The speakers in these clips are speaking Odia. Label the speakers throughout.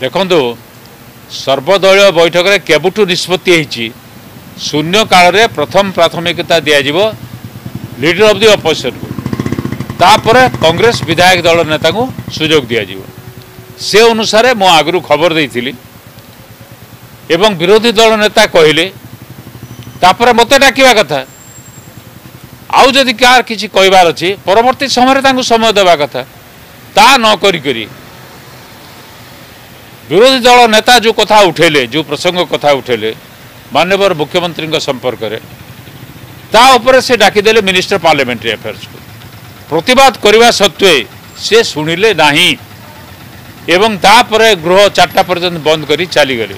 Speaker 1: ଦେଖନ୍ତୁ, ସର୍ବଦଳୀୟ ବୈଠକରେ କେବେଠୁ ନିଷ୍ପତ୍ତି ହେଇଛି ଶୂନ୍ୟ କାଳରେ ପ୍ରଥମ ପ୍ରାଥମିକତା ଦିଆଯିବ ଲିଡର ଅଫ୍ the ଅପୋଜିସନକୁ, ତାପରେ କଂଗ୍ରେସ ବିଧାୟକ ଦଳ ନେତାଙ୍କୁ ସୁଯୋଗ ଦିଆଯିବ। ସେ ଅନୁସାରେ ମୁଁ ଆଗରୁ ଖବର ଦେଇଥିଲି ଏବଂ ବିରୋଧୀ ଦଳ ନେତା କହିଲେ, ତାପରେ ମୋତେ ଡାକିବା କଥା। ଆଉ ଯଦି କାହାର କିଛି କହିବାର ଅଛି ପରବର୍ତ୍ତୀ ସମୟରେ ତାଙ୍କୁ ସମୟ ଦେବା କଥା। ତା ନ କରିକରି ବିରୋଧୀ ଦଳ ନେତା ଯେଉଁ କଥା ଉଠେଇଲେ, ଯେଉଁ ପ୍ରସଙ୍ଗ କଥା ଉଠେଇଲେ ମାନ୍ୟବର ମୁଖ୍ୟମନ୍ତ୍ରୀଙ୍କ ସମ୍ପର୍କରେ, ତା ଉପରେ ସେ ଡାକିଦେଲେ ମିନିଷ୍ଟର ପାର୍ଲାମେଣ୍ଟାରୀ ଆଫେୟାର୍ସକୁ। ପ୍ରତିବାଦ କରିବା ସତ୍ତ୍ୱେ ସେ ଶୁଣିଲେ ନାହିଁ ଏବଂ ତାପରେ ଗୃହ 4ଟା ପର୍ଯ୍ୟନ୍ତ ବନ୍ଦ କରି ଚାଲିଗଲେ।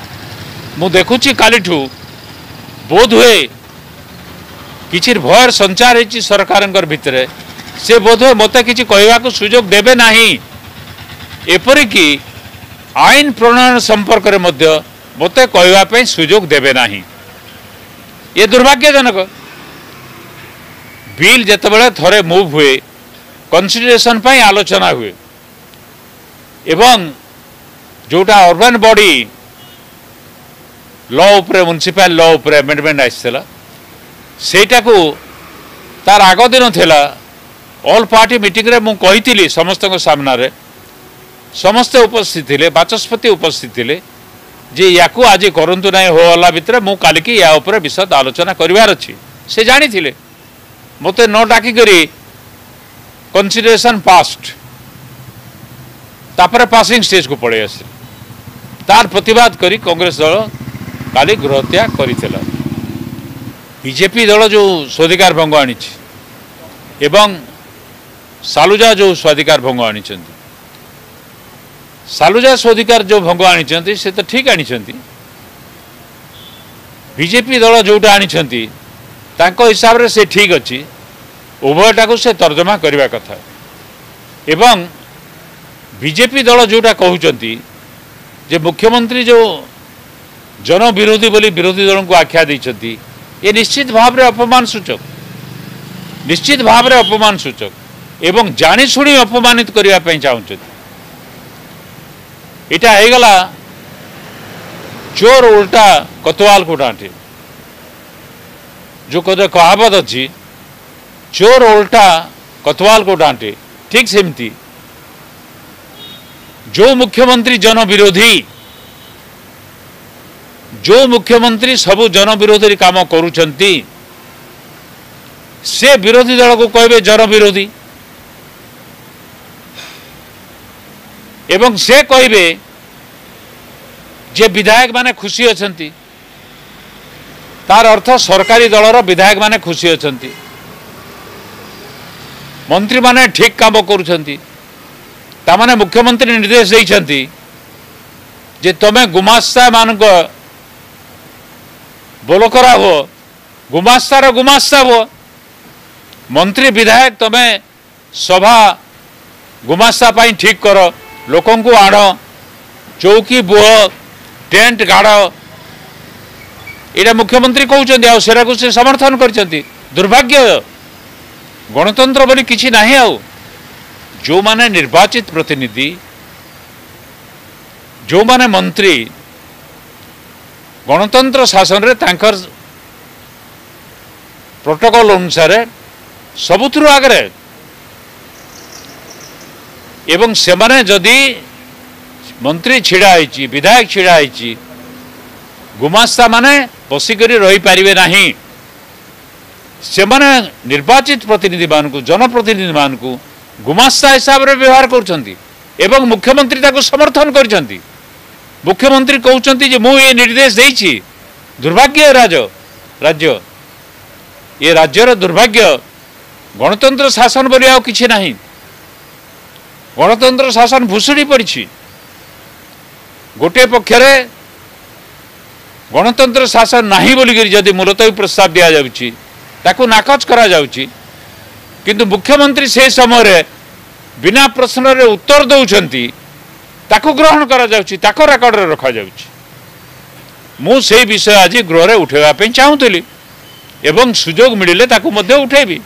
Speaker 1: ମୁଁ ଦେଖୁଛି କାଲିଠୁ ବୋଧହୁଏ କିଛି ଭୟର ସଞ୍ଚାର ହେଇଛି ସରକାରଙ୍କର ଭିତରେ। ସେ ବୋଧହୁଏ ମୋତେ କିଛି କହିବାକୁ ସୁଯୋଗ ଦେବେ ନାହିଁ। ଏପରିକି ଆଇନ ପ୍ରଣୟନ ସମ୍ପର୍କରେ ମଧ୍ୟ ମୋତେ କହିବା ପାଇଁ ସୁଯୋଗ ଦେବେ ନାହିଁ। ଏ ଦୁର୍ଭାଗ୍ୟଜନକ। ବିଲ୍ ଯେତେବେଳେ ଥରେ ମୁଭ୍ ହୁଏ, କନସିଡରେସନ୍ ପାଇଁ ଆଲୋଚନା ହୁଏ ଏବଂ ଯେଉଁଟା ଅର୍ବାନ୍ ବଡି ଲ ଉପରେ, ମ୍ୟୁନିସିପାଲ ଲ ଉପରେ ଆମେଣ୍ଡମେଣ୍ଟ ଆସିଥିଲା, ସେଇଟାକୁ ତାର ଆଗ ଦିନ ଥିଲା ଅଲ୍ ପାର୍ଟି ମିଟିଂରେ ମୁଁ କହିଥିଲି ସମସ୍ତଙ୍କ ସାମ୍ନାରେ, ସମସ୍ତେ ଉପସ୍ଥିତ ଥିଲେ, ବାଚସ୍ପତି ଉପସ୍ଥିତ ଥିଲେ, ଯେ ୟାକୁ ଆଜି କରନ୍ତୁ ନାହିଁ ହୋ ହଲ୍ଲା ଭିତରେ, ମୁଁ କାଲିକି ୟା ଉପରେ ବିଶଦ ଆଲୋଚନା କରିବାର ଅଛି। ସେ ଜାଣିଥିଲେ, ମୋତେ ନ ଡାକିକରି କନସିଡରେସନ୍ ପାସ୍ଡ, ତାପରେ ପାସିଂ ଷ୍ଟେଜକୁ ପଳେଇ ଆସିଲେ। ତାର ପ୍ରତିବାଦ କରି କଂଗ୍ରେସ ଦଳ କାଲି ଗୃହତ୍ୟାଗ କରିଥିଲା। ବିଜେପି ଦଳ ଯେଉଁ ସ୍ୱାଧିକାର ଭଙ୍ଗ ଆଣିଛି ଏବଂ ସାଲୁଜା ଯେଉଁ ସ୍ୱାଧିକାର ଭଙ୍ଗ ଆଣିଛନ୍ତି, ସାଲୁଜା ସ୍ୱାଧିକାର ଯେଉଁ ଭଙ୍ଗ ଆଣିଛନ୍ତି ସେ ତ ଠିକ୍ ଆଣିଛନ୍ତି। ବିଜେପି ଦଳ ଯେଉଁଟା ଆଣିଛନ୍ତି ତାଙ୍କ ହିସାବରେ ସେ ଠିକ୍ ଅଛି। ଉଭୟଟାକୁ ସେ ତର୍ଜମା କରିବା କଥା। ଏବଂ ବିଜେପି ଦଳ ଯେଉଁଟା କହୁଛନ୍ତି ଯେ ମୁଖ୍ୟମନ୍ତ୍ରୀ ଯେଉଁ ଜନବିରୋଧୀ ବୋଲି ବିରୋଧୀ ଦଳଙ୍କୁ ଆଖ୍ୟା ଦେଇଛନ୍ତି, ଏ ନିଶ୍ଚିତ ଭାବରେ ଅପମାନ ସୂଚକ, ନିଶ୍ଚିତ ଭାବରେ ଅପମାନ ସୂଚକ ଏବଂ ଜାଣିଶୁଣି ଅପମାନିତ କରିବା ପାଇଁ ଚାହୁଁଛନ୍ତି। ଏଇଟା ହେଇଗଲା ଚୋର ଉଲ୍ଟା କତୱାଲକୁ ଡାଣ୍ଟେ, ଯେଉଁ କଥା କହାବତ ଅଛି, ଚୋର ଉଲ୍ଟା କତୱାଲକୁ ଡାଣ୍ଟେ, ଠିକ୍ ସେମିତି ଯେଉଁ ମୁଖ୍ୟମନ୍ତ୍ରୀ ଜନବିରୋଧୀ, ଯେଉଁ ମୁଖ୍ୟମନ୍ତ୍ରୀ ସବୁ ଜନବିରୋଧୀ କାମ କରୁଛନ୍ତି, ସେ ବିରୋଧୀ ଦଳକୁ କହିବେ ଜନବିରୋଧୀ ଏବଂ ସେ କହିବେ ଯେ ବିଧାୟକ ମାନେ ଖୁସି ଅଛନ୍ତି। ତାର ଅର୍ଥ ସରକାରୀ ଦଳର ବିଧାୟକ ମାନେ ଖୁସି ଅଛନ୍ତି, ମନ୍ତ୍ରୀମାନେ ଠିକ୍ କାମ କରୁଛନ୍ତି। ତାମାନେ ମୁଖ୍ୟମନ୍ତ୍ରୀ ନିର୍ଦ୍ଦେଶ ଦେଇଛନ୍ତି ଯେ ତମେ ଗୁମାସ୍ତା ମାନଙ୍କ ବୋଲକରା ହୁଅ, ଗୁମାସ୍ତାର ଗୁମାସ୍ତା ହୁଅ, ମନ୍ତ୍ରୀ ବିଧାୟକ ତମେ ସଭା ଗୁମାସ୍ତା ପାଇଁ ଠିକ୍ କର, ଲୋକଙ୍କୁ ଆଣ, ଚୌକି ବୁହ, ଟେଣ୍ଟ ଗାଡ଼। ଏଇଟା ମୁଖ୍ୟମନ୍ତ୍ରୀ କହୁଛନ୍ତି ଆଉ ସେଟାକୁ ସେ ସମର୍ଥନ କରିଛନ୍ତି। ଦୁର୍ଭାଗ୍ୟ, ଗଣତନ୍ତ୍ର ବୋଲି କିଛି ନାହିଁ। ଆଉ ଯେଉଁମାନେ ନିର୍ବାଚିତ ପ୍ରତିନିଧି, ଯେଉଁମାନେ ମନ୍ତ୍ରୀ, ଗଣତନ୍ତ୍ର ଶାସନରେ ତାଙ୍କର ପ୍ରୋଟୋକଲ ଅନୁସାରେ ସବୁଥିରୁ ଆଗରେ, ଏବଂ ସେମାନେ ଯଦି ମନ୍ତ୍ରୀ ଛିଡ଼ା ହେଇଛି, ବିଧାୟକ ଛିଡ଼ା ହେଇଛି, ଗୁମାସ୍ତା ମାନେ ବସିକରି ରହିପାରିବେ ନାହିଁ। ସେମାନେ ନିର୍ବାଚିତ ପ୍ରତିନିଧିମାନଙ୍କୁ, ଜନପ୍ରତିନିଧିମାନଙ୍କୁ ଗୁମାସ୍ତା ହିସାବରେ ବ୍ୟବହାର କରୁଛନ୍ତି ଏବଂ ମୁଖ୍ୟମନ୍ତ୍ରୀ ତାକୁ ସମର୍ଥନ କରିଛନ୍ତି। ମୁଖ୍ୟମନ୍ତ୍ରୀ କହୁଛନ୍ତି ଯେ ମୁଁ ଏ ନିର୍ଦ୍ଦେଶ ଦେଇଛି। ଦୁର୍ଭାଗ୍ୟ ରାଜ୍ୟ, ଏ ରାଜ୍ୟର ଦୁର୍ଭାଗ୍ୟ, ଗଣତନ୍ତ୍ର ଶାସନ ବୋଲି ଆଉ କିଛି ନାହିଁ। ଗଣତନ୍ତ୍ର ଶାସନ ଭୁଷୁଡ଼ି ପଡ଼ିଛି। ଗୋଟିଏ ପକ୍ଷରେ ଗଣତନ୍ତ୍ର ଶାସନ ନାହିଁ ବୋଲିକରି ଯଦି ମୁଲତବୀ ପ୍ରସ୍ତାବ ଦିଆଯାଉଛି, ତାକୁ ନାକଚ କରାଯାଉଛି, କିନ୍ତୁ ମୁଖ୍ୟମନ୍ତ୍ରୀ ସେ ସମୟରେ ବିନା ପ୍ରଶ୍ନରେ ଉତ୍ତର ଦେଉଛନ୍ତି, ତାକୁ ଗ୍ରହଣ କରାଯାଉଛି, ତାକୁ ରେକର୍ଡରେ ରଖାଯାଉଛି। ମୁଁ ସେଇ ବିଷୟ ଆଜି ଗୃହରେ ଉଠାଇବା ପାଇଁ ଚାହୁଁଥିଲି ଏବଂ ସୁଯୋଗ ମିଳିଲେ ତାକୁ ମଧ୍ୟ ଉଠାଇବି।